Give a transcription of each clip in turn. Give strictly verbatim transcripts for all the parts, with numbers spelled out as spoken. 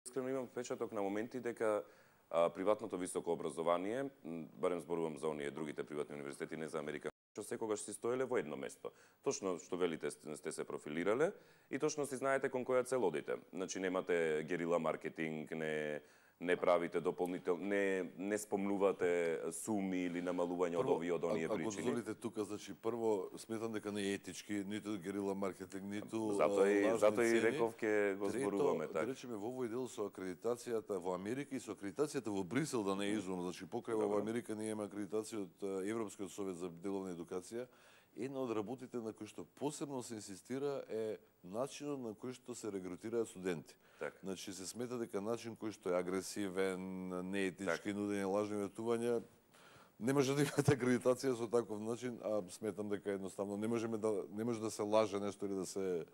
искрено имам впечаток на моменти дека а, приватното високо образование, барем зборувам за оние другите приватни универзитети, не за Америка, што секогаш си стоеле во едно место. Точно што велите сте се профилирале и точно си знаете кон која цел одите. Значи немате герила маркетинг, не не правите дополнител, не не спомнувате суми или намалување од овие од оние причини. Ако дозволите тука, значи прво сметам дека не е етички, ниту герила маркетинг, ниту затоа и затоа и реков ке го зборуваме така. Да речеме во овој дел со акредитацијата во Америка и со акредитацијата во Брисел, да не е изум, значи покрај во Америка ние имаме акредитација од Европскиот совет за деловна едукација. Една од работите на кои што посебно се инсистира е начинот на кој што се регрутираат студенти. Так. Значи се смета дека начин кој што е агресивен, неетички, нудење лажни ветувања, не може да имате акредитација со таков начин, а сметам дека едноставно не можеме да не може да се лаже нешто или да се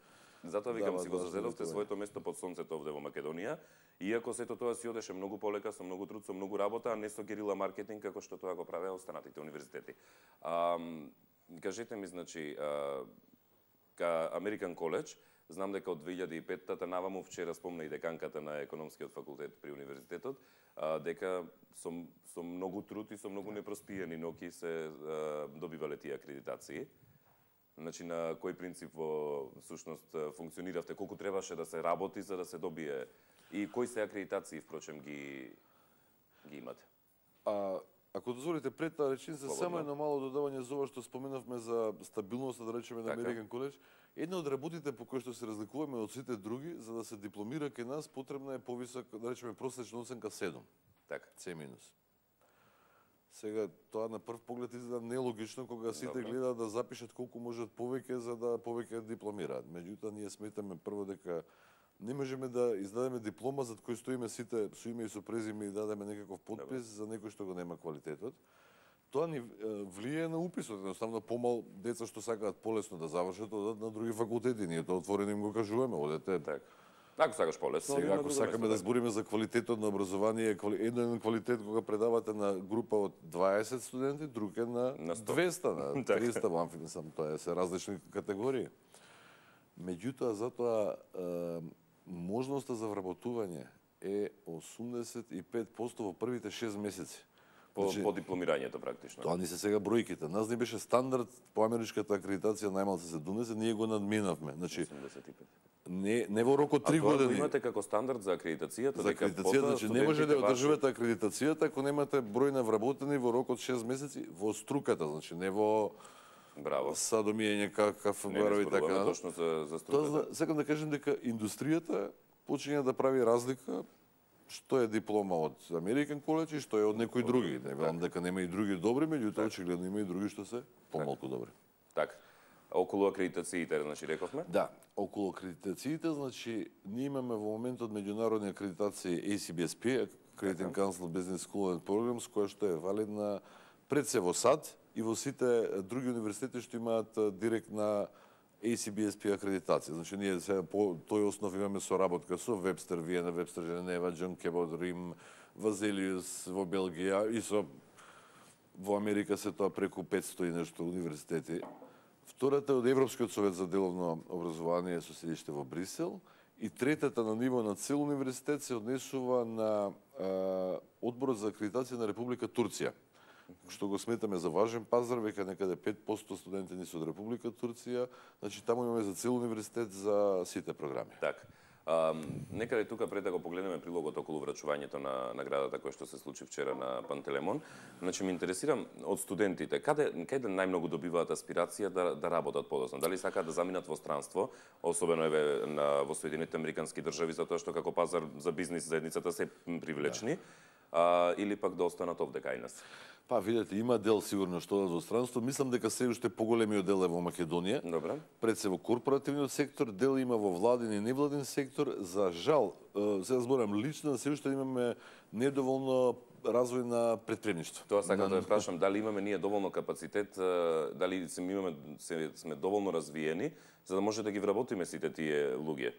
Затоа викам си го зазедовте своето место под сонцето овде во Македонија, иако сето тоа си одеше многу полека, со многу труд, со многу работа, а не со герила маркетинг како што тоа го правеа останатите универзитети. А, кажете ми, значи, а, ка American College, знам дека од две илјади и петта наваму, вчера спомна и деканката на економскиот факултет при универзитетот, а, дека со, со многу труд и со многу непроспиени ноки се а, добивале тие акредитации. Значи, на кој принцип во сушност функциониравте, колку требаше да се работи за да се добие и кои се акредитации, впрочем, ги, ги имате? А, ако дозволите пред таа реченица, само едно мало додавање за ова што споменавме за стабилноста, да речеме, на American College. Една од работите по кои што се разликуваме од сите други, за да се дипломира кај нас, потребна е повисока, да речеме, просечна оценка седум. Така. С минус. Сега, тоа на прв поглед изгледа нелогично кога сите гледаат да запишат колку можат повеќе за да повеќе дипломираат. Меѓутоа, ние сметаме прво дека не можеме да издадеме диплома за кој стоиме сите со име и со презиме и дадеме некаков подпис за некој што го нема квалитетот. Тоа ни влијае на уписот, едноставно помал деца што сакаат полесно да завршат, одат на други факултети. Ние тоа отворено им го кажуваме, одете. Така. Ако сакаш полесно, сега ако сакаме да збориме за квалитетот на образование, еден квалитет кога предавате на група од дваесет студенти, друг е на, на двеста, на триста, амфи, сам тоа се различни категории. Меѓутоа, затоа е, можноста за вработување е осумдесет и пет проценти во првите шест месеци. По, значи, по дипломирањето практично. Тоа ни се сега бројките. Нас ни беше стандард по америчката акредитација најмалку седумдесет, ние го надминавме. Значи осумдесет и пет. Не не во рок од три години. А тоа имате како стандард за акредитацијата, за акредитацијата, значи не може да одржувате акредитацијата ако немате број на вработени во рок од шест месеци во струката, значи не во Браво. Садомиење какав барови и така. Точно за за струката. Тоа сакам да кажем дека индустријата почиња да прави разлика што е диплома од American College и што е од некои други. Не велам дека нема и други добри, меѓутоа очигледно има и други што се помалку добри. Така. Околу акредитациите, значи рековме? Да, околу акредитациите, значи ние имаме во моментот меѓународни акредитации A C B S P, Accrediting Council Business School and Programs, која што е валидна пред се во САД и во сите други универзитети што имаат директна A C B S P акредитација. Значи ние сега по тој основ имаме соработка со Вебстер, Виена, Вебстер, Женева, Џон Кебот, Рим, Вазелиус во Белгија и со во Америка се тоа преку петсто и нешто универзитети. Втората е од Европскиот совет за деловно образование со седиште во Брисел и третата на ниво на цел универзитет се однесува на а, Одборот за акредитација на Република Турција, што го сметаме за важен пазар, века некаде пет проценти студенти ни се од Република Турција, значи таму имаме за цел универзитет за сите програми. Така. Um, некаде тука пред да го погледнеме прилогот околу врачувањето на наградата која што се случи вчера на Пантелемон, значи ме интересирам од студентите, каде каде најмногу добиваат аспирација да да работат подоцна? Дали сакаат да заминат во странство, особено еве на во Соединетите Американски држави, затоа што како пазар за бизнис заедницата се привлечни, а, или пак да останат овде кај нас? Па, видете, има дел сигурно што да за странство. Мислам дека се уште поголемиот дел е во Македонија. Добре. Пред се во корпоративниот сектор, дел има во владин и невладин сектор. За жал, сега зборам лично, се уште имаме недоволно развој на предприемништво. Тоа сакам да прашам, дали имаме ние доволно капацитет, дали се имаме се, сме доволно развиени за да може да ги вработиме сите тие луѓе?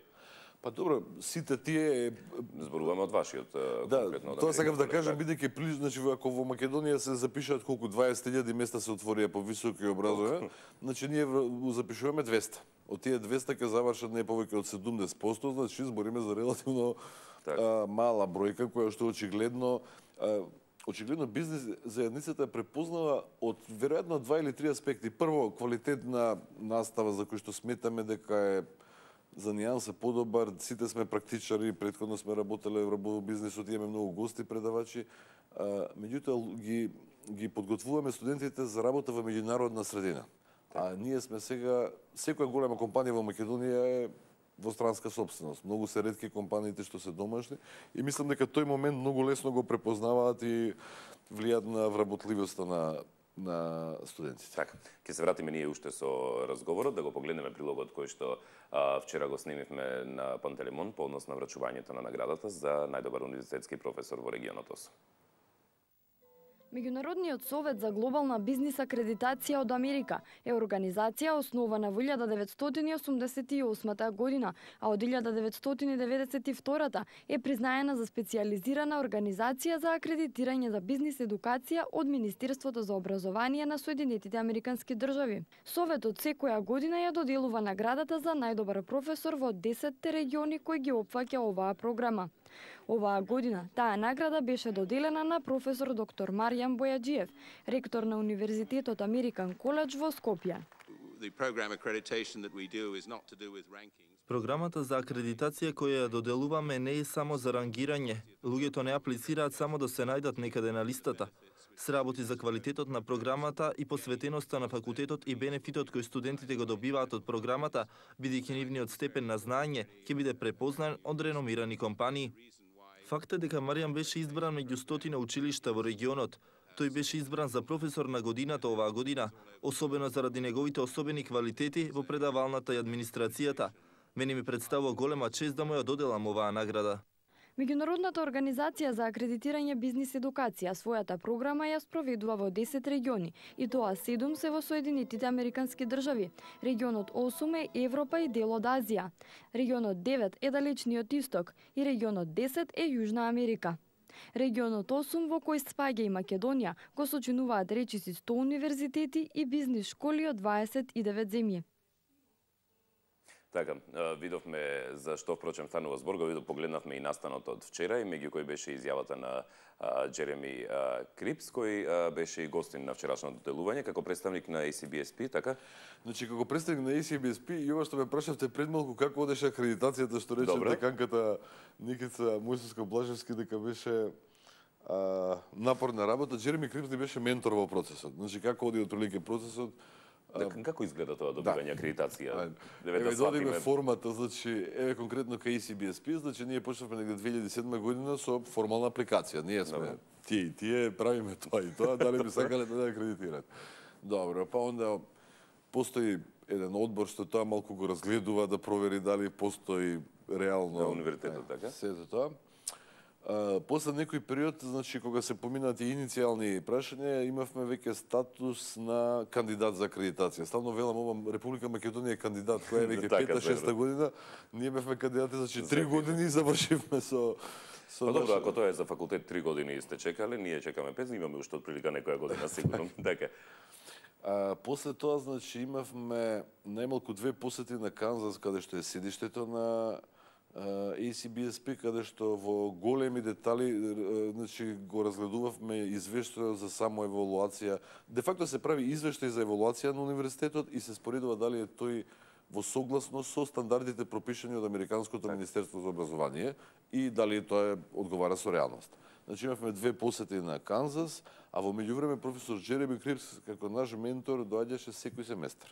Па добро, сите тие зборуваме од вашиот да, конкретно. Да, тоа сакам да кажам, бидејќи значи ако во Македонија се запишаат колку дваесет илјади места се отворија по високи образование, значи ние запишуваме двеста. Од тие двеста ќе завршат не повеќе од седумдесет проценти, значи збориме за релативно а, мала бројка која што очигледно а, очигледно бизнес заедницата препознава од веројатно два или три аспекти. Прво, квалитет на настава за кој што сметаме дека е за нијанса подобар, сите сме практичари, претходно сме работеле во бизнисот, имаме многу гости, предавачи, а, меѓутоа ги ги подготвуваме студентите за работа во меѓународна средина. А ние сме сега, секоја голема компанија во Македонија е во странска собственост. Многу се ретки компаниите што се домашни и мислам дека тој момент многу лесно го препознаваат и влијаат на вработливоста на на студентите. Така, ќе се вратиме ние уште со разговорот, да го погледнеме прилогот кој што а, вчера го снимивме на Пантелеймон по однос на врачувањето на наградата за најдобар универзитетски професор во регионот ОС. Меѓународниот совет за глобална бизнис акредитација од Америка е организација основана во илјада деветстотини осумдесет и осма година, а од илјада деветстотини деветдесет и втора е признаена за специјализирана организација за акредитирање за бизнис едукација од Министерството за образование на Соединетите Американски држави. Советот секоја година ја доделува наградата за најдобар професор во десетте региони кои ги опфаќа оваа програма. Оваа година таа награда беше доделена на професор доктор Маријан Бојаджиев, ректор на Универзитетот Американ Коледж во Скопје. Програмата за акредитација која ја доделуваме не е само за рангирање. Луѓето не аплицираат само да се најдат некаде на листата. Се работи за квалитетот на програмата и посветеноста на факултетот и бенефитот кој студентите го добиваат од програмата, бидејќи нивниот степен на знаење ќе биде препознан од реномирани компании. Факт е дека Маријан беше избран меѓу стотина училишта во регионот. Тој беше избран за професор на годината оваа година, особено заради неговите особени квалитети во предавалната и администрацијата. Мене ми представува голема чест да му ја доделам оваа награда. Меѓународната организација за акредитирање бизнис едукација својата програма ја спроведува во десет региони, и тоа седум се во Соединетите Американски држави. Регионот осум е Европа и дел од Азија. Регионот девет е Далечниот Исток и регионот десет е Јужна Америка. Регионот осум, во кој спаѓа и Македонија, го сочинуваат речиси сто универзитети и бизнис школи од дваесет и девет земји. Така, видовме за што впрочем станува збор, го видов, погледнавме и настанот од вчера, и меѓу кои беше изјавата на а, Джереми а, Крипс, кој а, беше и гостин на вчерашното делување, како представник на Ей Си Би Ес Пи, така? Значи, како представник на Ей Си Би Ес Пи, и ова што ме прашавте пред малку, како одеше акредитацијата, што рече деканката Никица Мојсовска-Блажевски, дека беше а, напорна работа. Джереми Крипс ни беше ментор во процесот. Значи, како оди отприлике процесот, Дека, како изгледа тоа добивање да. акредитација? Еве да одиме формата, значи, еве конкретно кај Ей Си Би Ес Пи, значи ние почнавме негде две илјади и седма година со формална апликација. Ние сме Добре. тие и тие правиме тоа и тоа, дали би сакале да акредитираат. Добро, па онда постои еден одбор што тоа малку го разгледува да провери дали постои реално на универзитетот, така? Сето тоа. Uh, после некој период, значи, кога се поминати иницијални прашања, имавме веќе статус на кандидат за акредитација. Ставно велам, ова Република Македонија е кандидат, која е веќе пета-шеста година. Ние бевме кандидати, значи, три години и завршивме со... со па добро, ако тоа е за факултет три години и сте чекале, ние чекаме пет, имаме уште отприлика некоја година, сигурно. Така. Uh, после тоа, значи, имавме најмалку две посети на Канзас, каде што е седиштето на Ей Си Би Ес Пи, каде што во големи детали, значи, го разгледувавме извештај за само евалуација. Де факто се прави извештај за евалуација на универзитетот и се споредува дали е тој во согласност со стандардите пропишани од Американското Министерство за образование и дали тоа е одговара со реалност. Значи имавме две посети на Канзас, а во меѓувреме професор Джереми Крипс како наш ментор доаѓаше секој семестар.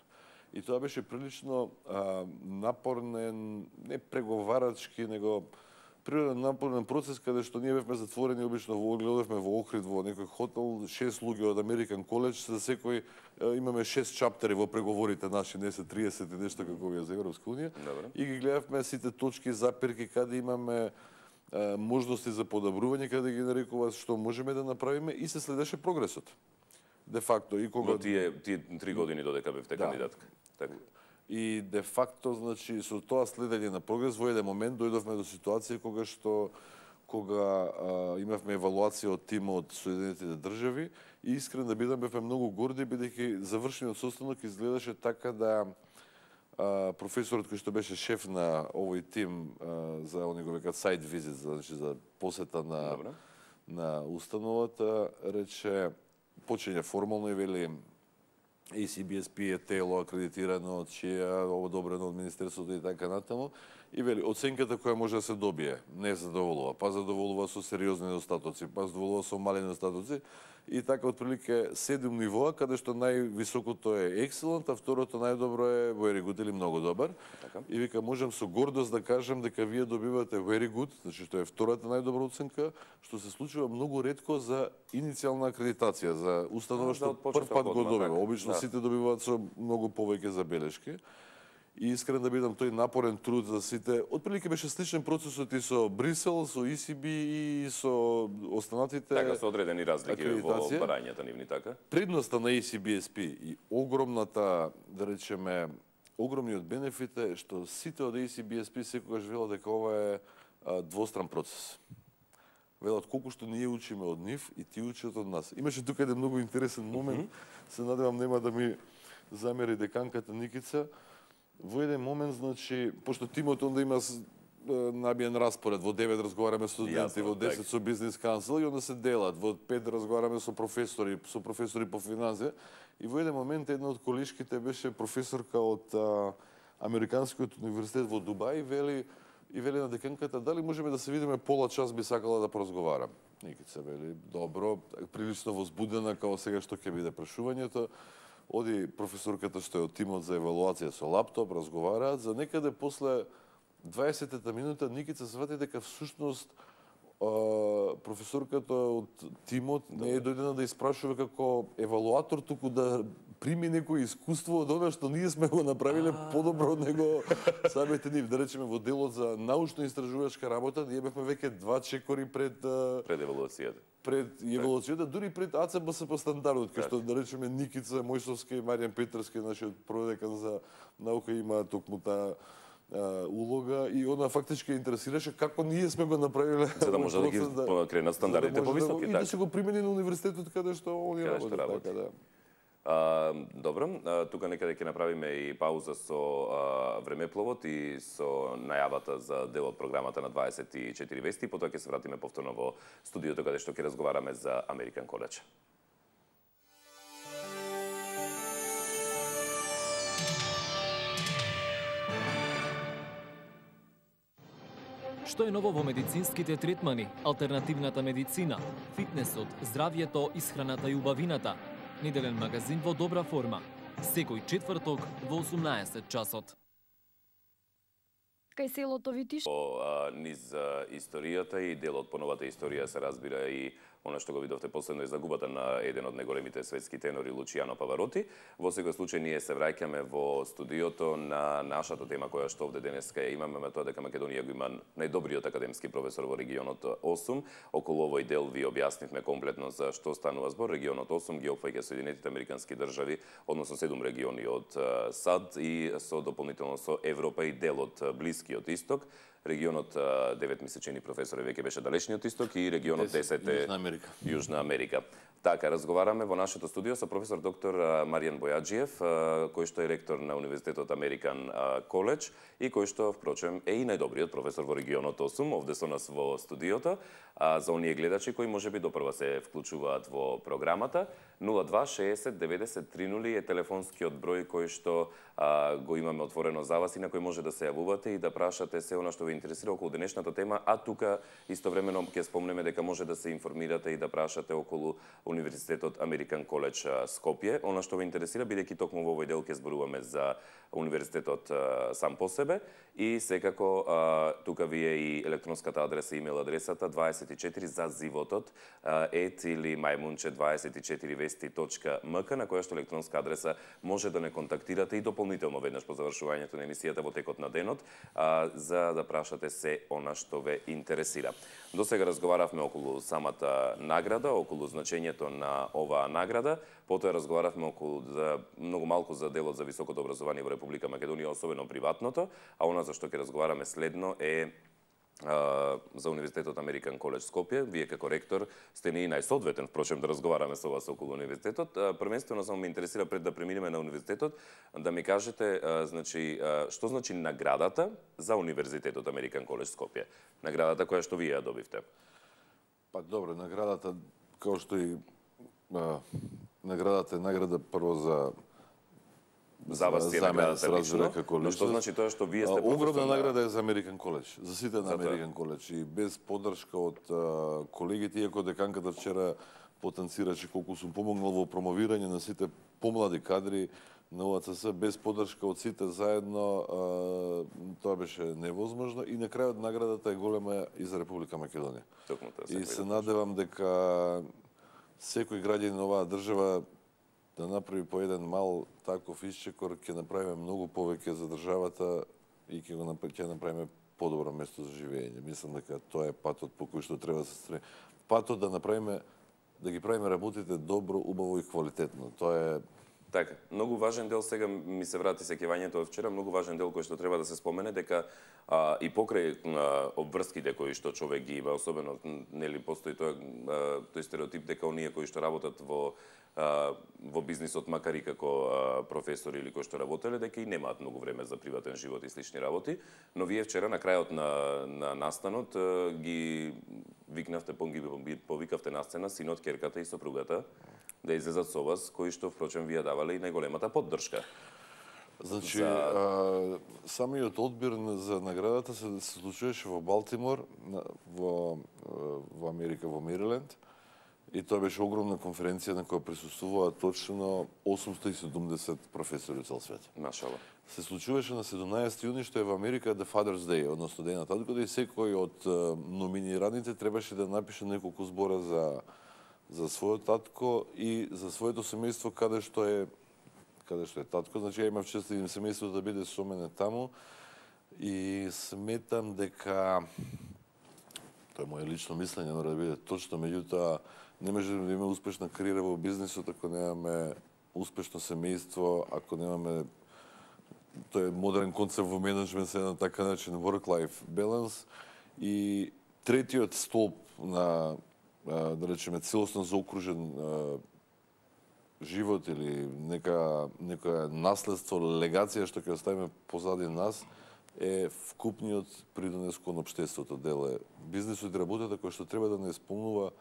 И тоа беше прилично а, напорен, не преговарачки, него природен напорен процес, каде што ние бевме затворени, обично во гледавме во Охрид, во некој хотел, шест луѓе од Американ Коледж, за секој а, имаме шест чаптери во преговорите наши, не се триесет и нешто како вие за Европска унија. Добре. И ги гледавме сите точки, запирки, каде имаме а, можности за подобрување, каде ги нарекува што можеме да направиме и се следеше прогресот. Де факто и кога во тие тие три години додека бевте да. кандидатка. Така. И де факто, значи, со тоа следење на прогрес во еден момент дојдовме до ситуација кога што кога а, имавме евалуација од тимот од Соединетите држави и искрено да бидам бевме многу горди бидејќи завршениот состанок изгледаше така да а, професорот кој што беше шеф на овој тим а, за они го векат сайт визит, значи за посета на Добре. на установата, рече почиња формално и вели ей си би ес пи е тело акредитирано од чија одобрено од министерството и така натаму. И вели, оценката која може да се добие не задоволува, па задоволува со сериозни недостатоци, па задоволува со мали недостатоци. И така, отприлике, седум нивоа, каде што највисокото е excellent, а второто најдобро е very good или многу добар. Така. И вика, можам со гордост да кажем дека вие добивате very good, значи што е втората најдобра оценка, што се случува многу ретко за иницијална акредитација, за установа што прв пат го добива. Обично да. Сите добиваат со многу повеќе забелешки. И искрен да бидам, тој напорен труд за сите, отприлике беше сличен процесот и со Брисел, со и си би и со останатите Така со одредени разлики во акредитација. барањата нивни, така? Предноста на ей си би ес пи и огромната, да речеме, огромниот бенефит е што сите од ей си би ес пи секогаш велат дека ова е а, двостран процес. Велат колку што ние учиме од нив и ти учат од нас. Имаше тука еден многу интересен момент, mm -hmm. се надевам нема да ми замери деканката Никица. Во еден момент, значи, пошто тимот онда има набиен распоред, во девет разговараме со студенти, во десет со бизнес кансел и онда се делат, во пет разговараме со професори, со професори по финансија. И во еден момент една од колишките беше професорка од а, Американскиот универзитет во Дубај и вели и вели на деканката дали можеме да се видиме пола час, би сакала да поразговарам. Никица вели добро, прилично возбудена као сега што ќе биде прашувањето. Оди професорката што е од тимот за евалуација со лаптоп, разговараат, за некаде после дваесетта минута Никица свати дека всушност професорката од тимот не е дојдена да испрашува како евалуатор, туку да прими некој искуство од она што ние сме го направиле подобро од него самите нив. Да речеме во делот за научно-истражувачка работа, ние бевме веќе два чекори пред пред евалуацијата. Пред евалуацијата, дури пред а це бе ес по стандардот, кај што да речеме Никица Мојсовска и Маријан Петрски, нашиот продекан за наука, има токму таа улога и она фактички интересираше како ние сме го направиле за да може да ги да, кренат стандардите да повисоки, да, така. И да се го примени на универзитетот каде што они работат, така да. А, добро, а, тука некаде ќе направиме и пауза со а, времепловот и со најавата за дел од програмата на дваесет и четири вести, потоа ќе се вратиме повторно во студиото каде што ќе разговараме за American College. Што е ново во медицинските третмани, алтернативната медицина, фитнесот, здравјето, исхраната и убавината? Неделен магазин во добра форма. Секој четврток во осумнаесет часот. Кај селото Витиш. По а, низ а, историјата и дел од поновата историја се разбира и она што го видовте последно е загубата на еден од најголемите светски тенори Лучијано Павароти. Во секој случај ние се враќаме во студиото на нашата тема која што овде денеска ја имаме, ме тоа дека Македонија го има најдобриот академски професор во регионот осум. Околу овој дел ви објаснивме комплетно за што станува збор. Регионот осум ги опфаќа Соединетите Американски држави, односно седум региони од САД и со дополнително со Европа и дел од Блискиот исток. Регионот девет месечени професор веќе беше далечниот исток и регионот десет е Јужна Америка. Јужна Америка. Така, разговараме во нашето студио со професор доктор Маријан Бојаджиев, кој што е ректор на Универзитетот American College и кој што, впрочем, е и најдобриот професор во регионот осум, овде со нас во студиото. А за оние гледачи кои можеби допрва се вклучуваат во програмата, нула два шеесет деветдесет тринули е телефонскиот број кој што а, го имаме отворено за вас и на кој може да се јавувате и да прашате се она што ве интересира околу денешната тема, а тука истовремено ќе спомнеме дека може да се информирате и да прашате околу Универзитетот American College Скопје. Она што ве интересира, бидејќи токму во овој дел ќе зборуваме за универзитетот а, сам по себе и секако а, тука ви е и електронската адреса, имейл адресата дваесет и четири за животот ет или мајмунче дваесет и четири вести точка ем ка, на која што електронска адреса може да не контактирате и дополнително веднаш по завршувањето на емисијата во текот на денот, а, за да прашате се она што ве интересира. До сега разговаравме околу самата награда, околу значењето на оваа награда, потоа разговаравме околу за многу малку за делот за високото образование во Република Македонија, особено приватното, а она за што ќе разговараме следно е за Универзитетот Американ Коледж Скопје. Вие како ректор сте не и најсоодветен, впрочем, да разговараме со вас околу универзитетот. Првенствено само ме интересира пред да преминеме на универзитетот, да ми кажете, значи, што значи наградата за Универзитетот Американ Коледж Скопје? Наградата која што вие ја добивте. Па добре, наградата, како што и а, наградата е награда прво за за вас е наградата лично, но што значи тоа што вие сте професор? Огромна награда е за Американ Коледж, за сите на Американ Коледж и без поддршка од а, колегите, иако деканката вчера потенцираше колку сум помогнал во промовирање на сите помлади кадри на У А Ц С, без поддршка од сите заедно, а, тоа беше невозможно и на крајот наградата е голема и за Република Македонија. И се надевам дека секој граѓанин на оваа држава да направи по еден мал таков исчекор, ќе направиме многу повеќе за државата и ќе го направиме, направиме подобро место за живење. Мислам дека тоа е патот по кој што треба да се стреми. Патот да направиме, да ги правиме работите добро, убаво и квалитетно. Тоа е така, многу важен дел, сега ми се врати сеќавањето од вчера, многу важен дел кој што треба да се спомене, дека а, и покрај а, обврските кои што човек ги има, особено нели постои тоа а, тој стереотип дека оние кои што работат во а, во бизнисот, макар и како а, професори или кои што работеле, дека и немаат многу време за приватен живот и слични работи, но вие вчера на крајот на, на настанот а, ги викнавте, ги повикавте на сцена синот, ќерката и сопругата да излезат со вас, кои што, впрочем, вие давале и најголемата поддршка. Значи, за... а, самиот одбир за наградата се, се случуваше во Балтимор, во, во Америка, во Мериленд, и тоа беше огромна конференција на која присуствуваа точно осумстотини и седумдесет професори од цел свет. Машала. Се случуваше на седумнаесети јуни, што е во Америка The Father's Day, односно Ден на таткото, и секој од номинираните требаше да напише неколку збора за за својот татко и за своето семејство каде што е каде што е татко. Значи ја имав чест и семејството да биде со мене таму и сметам дека тоа е моје лично мислење, мора да биде точно, меѓутоа не може да имаме успешна кариера во бизнисот ако немаме успешно семејство, ако немаме тоа е модерен концепт во менеджмент, се на така начин work-life balance. И третиот столб на да речеме целосно заокружен живот или нека некоја наследство, легација што ќе оставиме позади нас е вкупниот придонес кон општеството. Дел е бизнисот и работата која што треба да не исполнува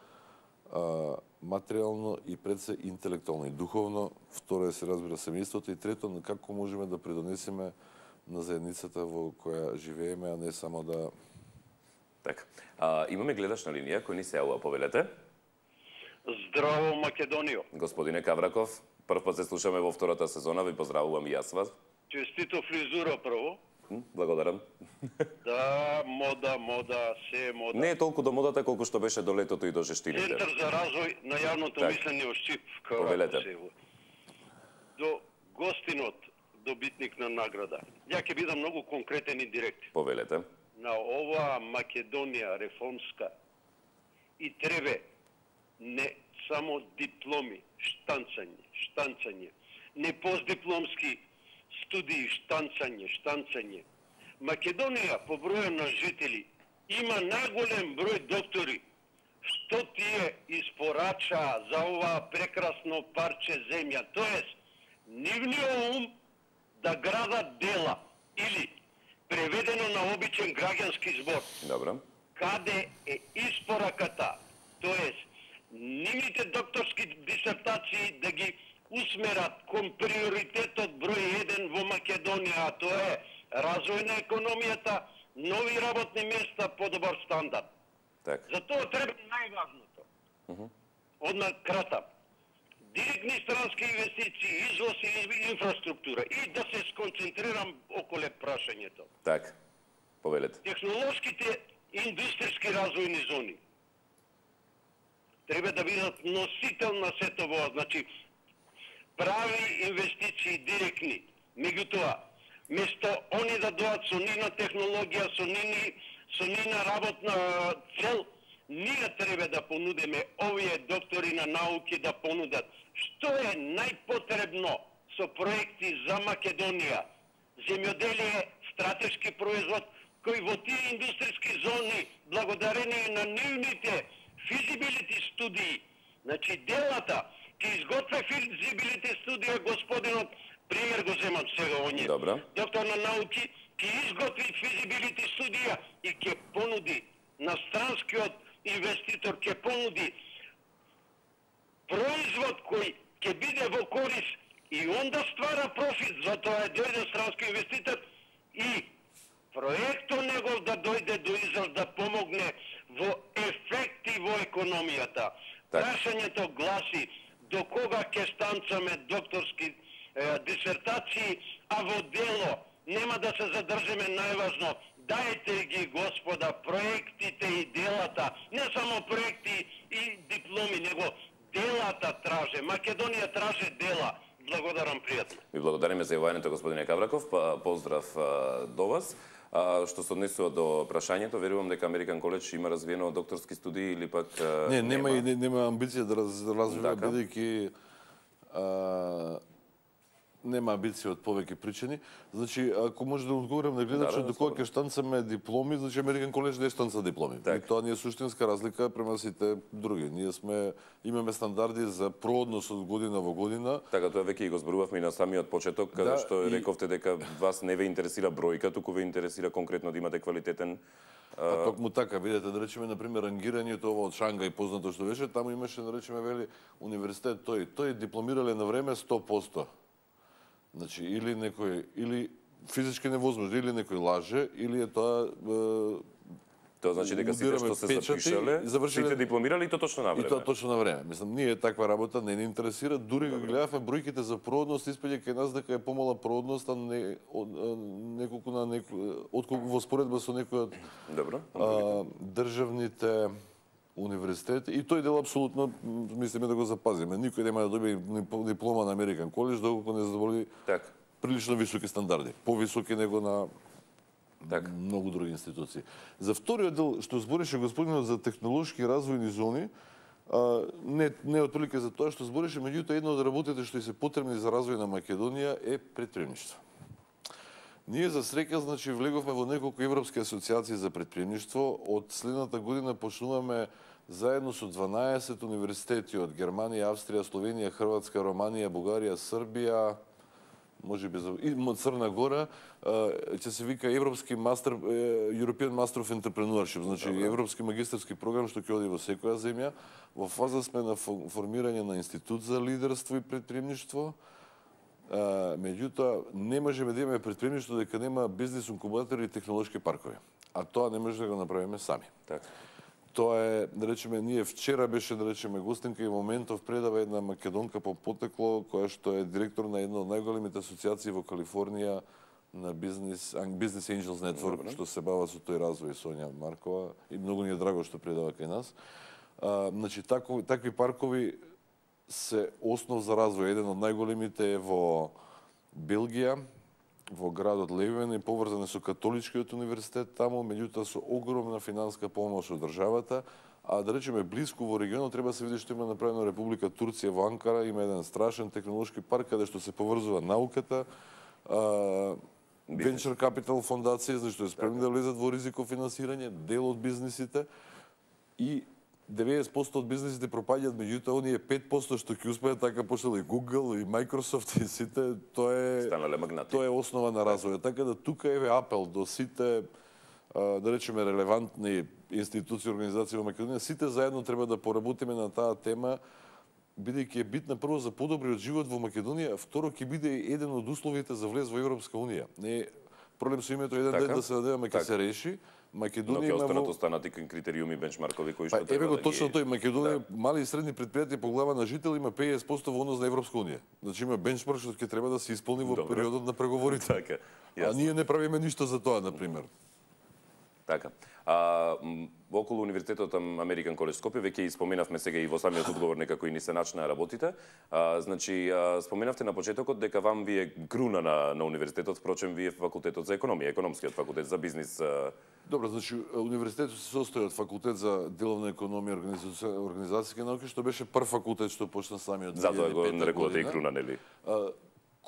а, материјално и пред се интелектуално и духовно. Второ е се разбира семејството и трето како можеме да придонесеме на заедницата во која живееме, а не само да така. А, имаме гледаш на линија кој ни се јавува, повелете. Здраво, Македонијо. Господине Кавраков, прв пат се слушаме во втората сезона, ви поздравувам и јас вас. Честито фризура прво. Благодарам. Да, мода, мода, се е мода. Не е толку до модата колку што беше до летото и до жештините. Центар за развој на јавното так. мислење во Шчип. Повелете. До гостинот, добитник на награда. Ја ќе бидам многу конкретен и директен. Повелете. На оваа Македонија реформска и требе не само дипломи, штанцање, штанцање, не постдипломски студии, штанцање, штанцање. Македонија по броја на жители има најголем број доктори. Што тие испорача за ова прекрасно парче земја? Тоест, нивниот ум да градат дела или преведено на обичен граѓански збор. Добро. Каде е испораката? Тоест, нивните докторски дисертации да ги усмерат кон приоритетот број еден во Македонија, а тоа е развој на економијата, нови работни места, подобар стандард. Так. За тоа треба најважното. Uh -huh. Однакрата, директни странски инвестиции, извоз и инфраструктура и да се сконцентрирам околе прашањето. Так, повелете. Технолошките индустријски развојни зони треба да бидат носител на сето во, значи прави инвестиции директни. Меѓутоа, место они да доат со нина технологија, со нини, со нина работна цел, ние треба да понудиме овие доктори на науки да понудат што е најпотребно со проекти за Македонија. Земјоделие, стратешки производ, кои во тие индустријски зони, благодарение на нивните feasibility студии, значи делата, ке изготвя feasibility студија господинот, пример го земам сега оние, Добра. доктор на науки, ке изготви feasibility студија и ке понуди на странскиот инвеститор, ке понуди производ кој ќе биде во корис и онда ствара профит, затоа е дојде странски инвеститор и проектот негов да дојде до израз да помогне во ефекти во економијата. Прашањето гласи до кога ќе станцаме докторски е, дисертации, а во дело нема да се задржиме најважно. Дајте ги, господа, проектите и делата, не само проекти и дипломи, него делата траже. Македонија траже дела. Благодарам пријатно. Ви благодариме за јавањето, господине Кавраков. Поздрав до вас. А, што се однесува до прашањето, верувам дека Американ коледж има развиено докторски студии или пак не, нема и не, нема амбиција да раз, развива, бидејќи нема амбиција од повеќе причини. Значи, ако може да одговорам на гледачот, да, да, докога ќе штанцаме дипломи, значи Американ коледж не штанца дипломи. Так. И тоа не е суштинска разлика према сите други. Ние сме имаме стандарди за проодност од година во година. Така, тоа веќе и го зборувавме и на самиот почеток, каде да, што и... рековте дека вас не ве интересира бројка, туку ве интересира конкретно да имате квалитетен. А токму така, видете, да речеме, например, рангирањето ова од Шангај, познато што беше, таму имаше, да речеме, вели, универзитет тој, тој дипломирале на време сто проценти. Значи, или некој, или физички невозможно, или некој лаже, или е тоа... Е, тоа значи дека сите што се запишале, завршиле... сите дипломирали и тоа точно на време. И тоа точно на време. Мислам, ние таква работа не ни интересира, дури го гледавме бројките за проодност, испаѓа кај нас дека е помала проодност, а не, неколку на некој, отколку во споредба со некој од Добро. А, државните универзитет и тој дел апсолутно мислиме да го запазиме. Никој нема да добие диплома на Американ коледж доколку не задоволи так. прилично високи стандарди, повисоки него на так. многу други институции. За вториот дел што збореше господинот за технолошки развојни зони, а, не не отприлика за тоа што збореше, меѓутоа една од работите што и се потребни за развој на Македонија е претприемништво. Ние за среќа, значи, влеговме во неколку европски асоциации за претприемништво. Од следната година почнуваме заедно со дванаесет универзитети од Германија, Австрија, Словенија, Хрватска, Романија, Бугарија, Србија, можеби за и Црна Гора, ќе се вика Европски мастер European Master of Entrepreneurship, значи Добре. Европски магистарски програм што ќе оди во секоја земја. Во фаза сме на формирање на институт за лидерство и претприемништво. Меѓутоа, не можеме да имаме претприемништво дека нема бизнес инкубатори и технолошки паркови. А тоа не може да го направиме сами. Така. Тоа е, да речеме, ние вчера беше, да речеме, гостинка и моментов предава една македонка по потекло, која што е директор на една од најголемите асоциации во Калифорнија на бизнес, Business Angels Network, што се бава со тој развој, Сонја Маркова, и многу ни е драго што предава кај нас. А, значи, тако, такви паркови се основ за развој. Еден од најголемите е во Белгија, во градот Левен, и поврзан со католичкиот универзитет таму, меѓутоа со огромна финанска помош од државата, а да речеме блиску во регионот треба се види што има направено Република Турција во Анкара, има еден страшен технолошки парк каде што се поврзува науката, Venture Capital фондација, зашто е спремни да влезат во ризико финансирање, дел од бизнисите, и деветдесет проценти од бизнисите пропаѓаат, меѓутоа оние пет проценти што ќе успеат, така почнал и Google и Microsoft и сите, тоа е станале магнати. Тоа е основа на развојот. Така да тука еве апел до сите, да речеме, релевантни институции, организации во Македонија, сите заедно треба да поработиме на таа тема, бидејќи е битна прво за подобриот живот во Македонија, а второ ќе биде еден од условите за влез во Европска унија. Не проблем со името еден така? ден да се надеваме ќе се реши. Македонија има останат останати критериуми, бенчмаркови кои што па, треба. Еве го точно тој, Македонија да. Мали и средни предпријатија по глава на жител има петдесет проценти во однос на Европска унија. Значи има бенчмарк што ќе треба да се исполни во Добре. периодот на преговорите. Така. А ние не правиме ништо за тоа, на пример. Така. А, околу Универзитетот Американ коледж Скопје, веќе и споменавме сега и во самиот одговор некако и ни се начна работите. А, значи, а, споменавте на почетокот дека вам ви е круна на, на универзитетот, впрочем, вие факултетот за економија, економскиот факултет за бизнис. А... Добро, значи, универзитетот се состои од факултет за деловна економија и организацијски науки, што беше прв факултет што почна самиот две илјади и пета затоа го нарекувате и круна, нели? А,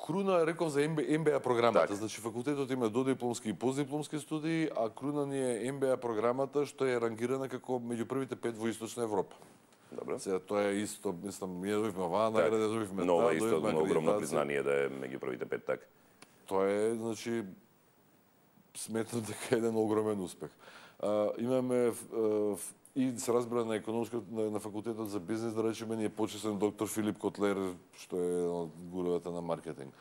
Круна, реков за Ем Бе А програмата, Так. значи факултетот има додипломски и постдипломски студии, а Круна ни е Ем Бе А програмата што е рангирана како меѓу првите пет во Источна Европа. Добро. Сега тоа е исто, мислам, ние добивме оваа награда, добивме Нова таа, исто добивме огромно акредитација. признание да е меѓу првите пет, така. Тоа е, значи, сметам дека е еден огромен успех. А, имаме а, и се разбира на економскиот на, на факултетот за бизнес, да речеме, ни е почесен доктор Филип Котлер, што е еден од гуровете на маркетинг.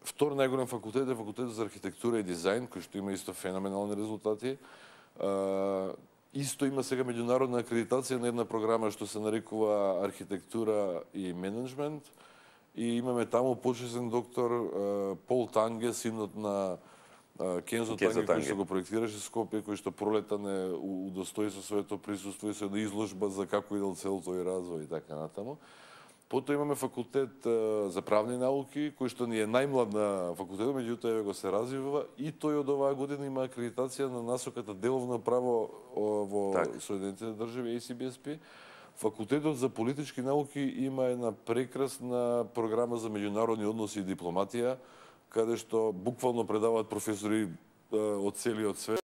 Втор најголем факултет е факултетот за архитектура и дизајн, кој што има исто феноменални резултати. А, исто има сега меѓународна акредитација на една програма што се нарекува архитектура и менеджмент. И имаме таму почесен доктор а, Пол Танге, синот на а, Кензо Танге, кој што го проектираше Скопје, кој што пролета не удостои со своето присуство и со една изложба за како идел цел тој развој и така натаму. Потоа имаме факултет а, за правни науки, кој што ни е најмлад на факултетот, меѓутоа еве го се развива и тој од оваа година има акредитација на насоката деловно право во Так. Соединетите држави Ей Си Би Ес Пи. Факултетот за политички науки има една прекрасна програма за меѓународни односи и дипломатија, каде што буквално предаваат професори а, од целиот свет.